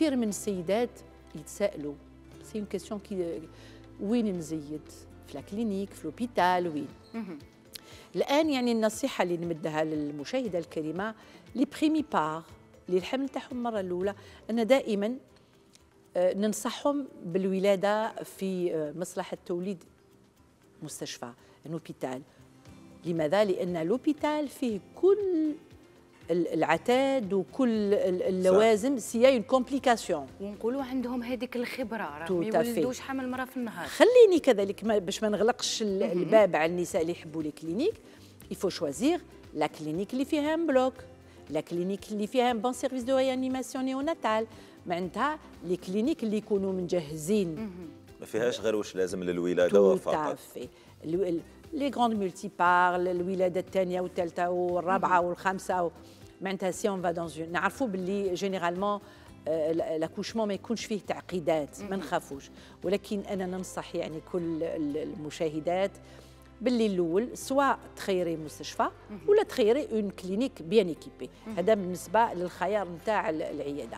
كثير من السيدات يتساءلوا سي اون كيسيون كي وين نزيد في الكلينيك في لوبيتال وين. الان يعني النصيحه اللي نمدها للمشاهده الكريمه لي بريمي بار اللي الحمل تاعهم المره الاولى ان دائما ننصحهم بالولاده في مصلحه التوليد مستشفى لوبيتال. لماذا؟ لان لوبيتال فيه كل العتاد وكل اللوازم سي اون كومبليكاسيون، ونقولوا عندهم هذيك الخبره راه ما يولدوش حمل مره في النهار. خليني كذلك باش ما نغلقش الباب على النساء اللي يحبوا لي كلينيك، يفو شوازير لا كلينيك اللي فيها ان بلوك، لا كلينيك اللي فيها ان بون سيرفيس دو ريانيماسيون نيوناتال، معناتها لي كلينيك اللي يكونوا مجهزين ما فيهاش غير واش لازم للولاده فقط. لي غروند مولتي بار، الولاده الثانيه والثالثه والرابعه والخامسه، معناتها سي اون فا دون نعرفوا باللي جينيرالمون لاكوشمون ما يكونش فيه تعقيدات، ما نخافوش. ولكن انا ننصح يعني كل المشاهدات باللي الاول سواء تخيري مستشفى ولا تخيري اون كلينيك بيان ايكيبي، هذا بالنسبه للخيار نتاع العياده.